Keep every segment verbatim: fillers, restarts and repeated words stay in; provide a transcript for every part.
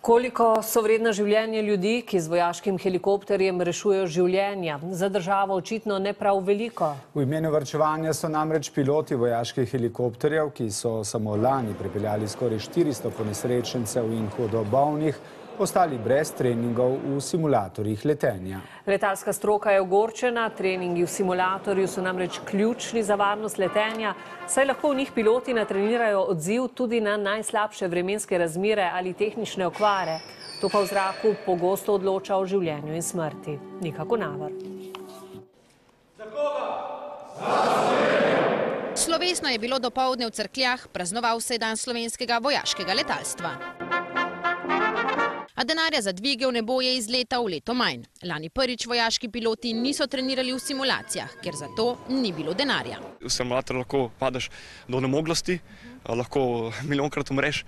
Koliko so vredna življenja ljudi, ki z vojaškim helikopterjem rešujejo življenja? Za državo očitno ne prav veliko. V imenu varčevanja so namreč piloti vojaških helikopterjev, ki so samo lani prepeljali skoraj štiristo ponesrečencev in hudo bolnih, ostali brez treningov v simulatorjih letenja. Letalska stroka je ogorčena, treningi v simulatorju so namreč ključni za varnost letenja, saj lahko v njih piloti natrenirajo odziv tudi na najslabše vremenske razmere ali tehnične okvare. To pa v zraku pogosto odloča o življenju in smrti. Nika Konavar. Za koga? Za Slovenijo! Slovesno je bilo dopoldne v Cerkljah, praznoval se je dan slovenskega vojaškega letalstva. A denarja za dvige v nebo je iz leta v leto manj. Lani prvič vojaški piloti niso trenirali v simulacijah, ker za to ni bilo denarja. V simulator lahko padeš do nemoglosti, lahko milijonkrat umreš,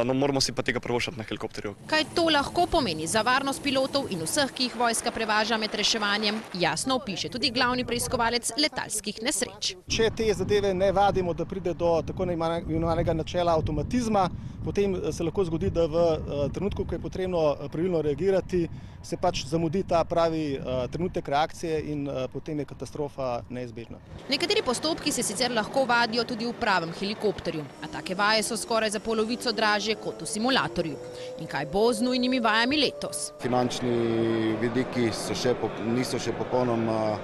no moramo si pa tega privoščiti na helikopterju. Kaj to lahko pomeni za varnost pilotov in vseh, ki jih vojska prevaža med reševanjem, jasno opiše tudi glavni preiskovalec letalskih nesreč. Če te zadeve ne vadimo, da pride do tako imenovanega načela avtomatizma, potem se lahko zgodi, da v trenutku, ko je potrebno pravilno reagirati, se pač zamudi ta pravi trenutek reakcije in potem je katastrofa neizbežna. Nekateri postopki se sicer lahko vadijo tudi v pravem helikopterju, a take vaje so skoraj za polovico dražje kot v simulatorju. In kaj bo z nujnimi vajami letos? Finančni vidiki so še, niso še popolnoma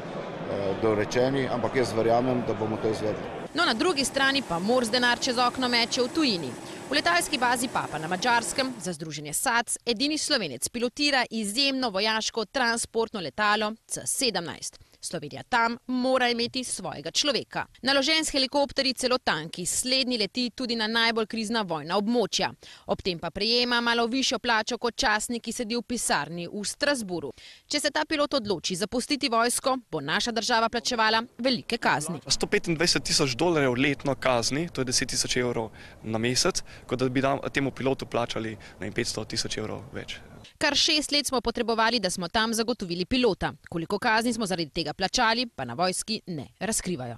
dorečeni, ampak jaz verjamem, da bomo to izvedli. No, na drugi strani pa Mors denar čez okno meče v tujini. V letalski bazi Papa na Madžarskem za združenje S A C edini Slovenec pilotira izjemno vojaško transportno letalo C sedemnajst. Slovenija tam mora imeti svojega človeka. Naložen s helikopterji celo tanki, slednji leti tudi na najbolj krizna vojna območja. Ob tem pa prejema malo višjo plačo kot častnik, ki sedi v pisarni v Strasburu. Če se ta pilot odloči zapustiti vojsko, bo naša država plačevala velike kazni. sto petindvajset tisoč dolarjev letno kazni, to je deset tisoč evrov na mesec, kot da bi temu pilotu plačali petsto tisoč evrov več. Kar šest let smo potrebovali, da smo tam zagotovili pilota. Koliko kazni smo zaradi tega plačali, pa na vojski ne razkrivajo.